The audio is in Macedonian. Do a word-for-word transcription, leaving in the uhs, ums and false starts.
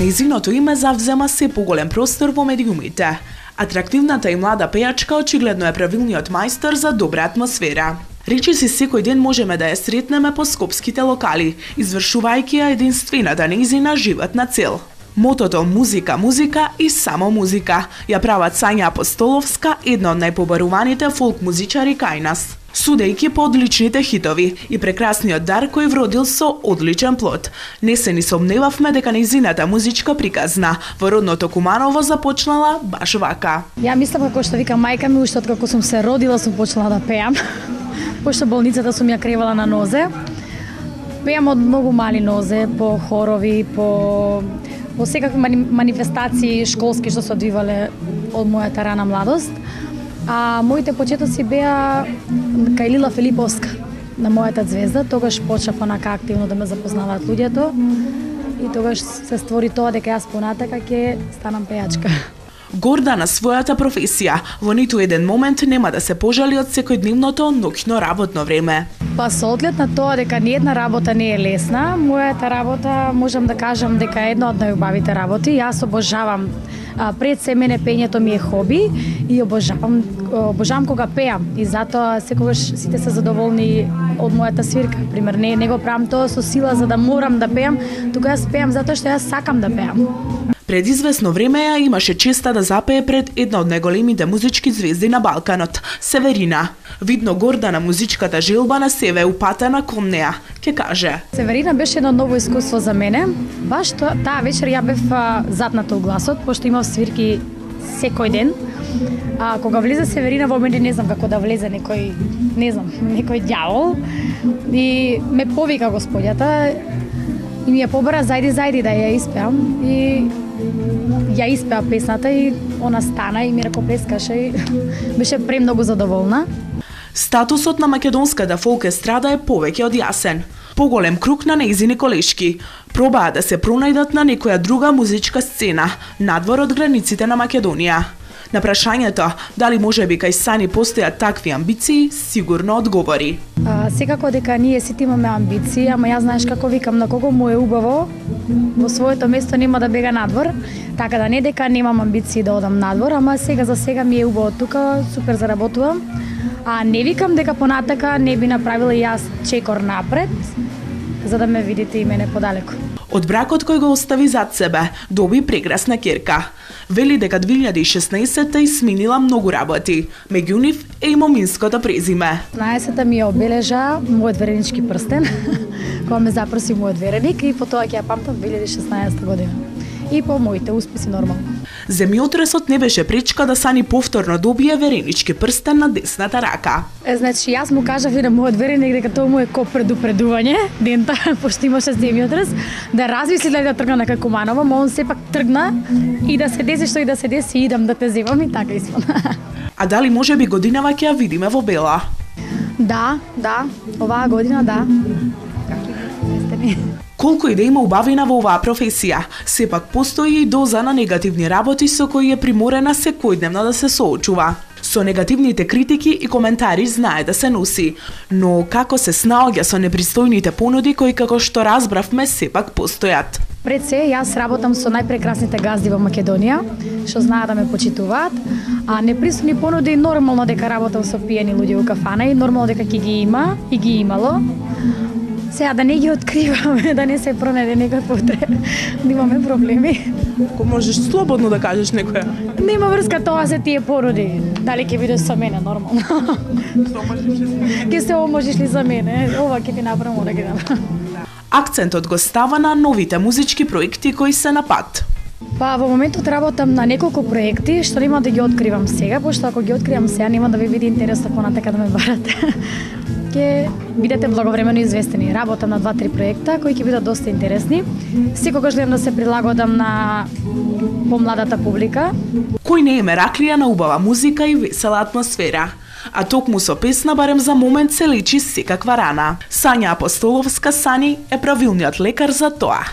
Нејзиното име завзема се поголем простор во медиумите. Атрактивната и млада пејачка очигледно е правилниот мајстор за добра атмосфера. Речиси секој ден можеме да ја сретнеме по скопските локали, извршувајќи ја единствената нејзина животна цел. Мотото музика, музика и само музика ја прават Сања Апостоловска една од најпобаруваните фолк музичари кај нас. Судејќи по одличните хитови и прекрасниот дар кој вродил со одличен плод, не се ни сомневавме дека нејзината музичка приказна во родното Куманово започнала баш вака. Ја мислам како што вика мајка ми, уште откако сум се родила сум почнала да пеам. Пошто болницата сум ја кревала на нозе. Пеам од многу мали нозе, по хорови, по во секакви мани... манифестации школски што се одвивале од мојата рана младост. А моите почетоци беа кај Лила Филиповска на мојата звезда. Тогаш почнав онака активно да ме запознаваат луѓето и тогаш се створи тоа дека јас понатака ќе станам пејачка. Горда на својата професија, во ниту еден момент нема да се пожали од секојдневното ноќно работно време. Па со оглед на тоа дека ни една работа не е лесна, мојата работа можам да кажам дека е една од најубавите работи. Јас обожавам, а, пред се мене пењето ми е хоби и обожавам обожавам кога пеам и затоа секогаш сите се задоволни од мојата свирка. Пример, не не го правам тоа со сила за да морам да пеам, туку јас пеам затоа што јас сакам да пеам. Пред известно време ја имаше честа да запее пред една од најголемите музички звезди на Балканот, Северина. Видно горда на музичката желба на себе упатена кон неа, ќе каже. Северина беше едно ново искуство за мене. Баш тоа, таа вечер ја бев затната у гласот, пошто имав свирки секој ден. А кога влезе Северина во мене, не знам како да влезе некој, не знам, некој ѓавол и ме повика господјата и ми ја побара зајди зајди да ја испеам и ја испеа песната и она стана и ми ракоплескаше и беше премногу задоволна. Статусот на македонската фолк естрада е повеќе од јасен. Поголем круг на нејзини колешки пробаа да се пронајдат на некоја друга музичка сцена надвор од границите на Македонија. На прашањето дали можеби кај Сани постојат такви амбиции, сигурно одговори. А, секако дека ние сите имаме амбиции, ама јас знаеш како викам, на кого му е убаво, во своето место нема да бега надвор, така да не дека немам амбиции да одам надвор, ама сега за сега ми е убаво тука, супер заработувам. А не викам дека понатака не би направила јас чекор напред, за да ме видите и мене подалеку. Од бракот кој го остави зад себе, доби прекрасна ќерка. Вели дека две илјади и шеснаесетта и сменила многу работи, меѓу нив е и моминското презиме. шеснаесетта ми ја обележа мојот веренички прстен, кога ме запроси мојот вереник и по тоа ќе ја памтам две илјади и шеснаесетта година. И по моите успеси нормално. Земјотресот не беше пречка да Сани повторно добие веренички прстен на десната рака. Е, значи, јас му кажав и на мојот вереник дека тоа му е ко предупредување, дента, пошто имаше земјотрес, да размисли дали да тргна на кај Куманово, но он сепак тргна и да се деси што и да се деси, идам да те земам и така испана. А дали можеби годинава ќе ја видиме во бела? Да, да, оваа година да. Колку и да има убавина во оваа професија, сепак постои и доза на негативни работи со кои е приморена секојдневно да се соочува. Со негативните критики и коментари знае да се носи, но како се снаоѓа со непристојните понуди кои, како што разбравме, сепак постојат. Пред се, јас работам со најпрекрасните газди во Македонија, што знаат да ме почитуваат, а непристојни понуди нормално дека работам со пиени луѓе во кафана и нормално дека ќе ги има и ги имало. Сега да не ги откриваме, да не се пронајде некој потреба, да имаме проблеми. Ако можеш слободно да кажеш некоја. Нема врска, тоа се тие породи. Дали ќе бидеш со мене, нормално. Ќе се омажиш ли за мене? Ова ќе ти направам, ова ќе направам. Акцентот го става на новите музички проекти кои се на пат. Па во моментот работам на неколку проекти, што нема да ги откривам сега, пошто ако ги откривам сега нема да ви биде интересно понатака да ме барате. Ќе бидете благовремено известени. Работам на два-три проекта кои ќе бидат доста интересни. Секогаш гледам да се прилагодам на помладата публика. Кој не е мераклија на убава музика и весела атмосфера, а токму со песна барем за момент се лечи секаква рана. Сања Апостоловска Сани е правилниот лекар за тоа.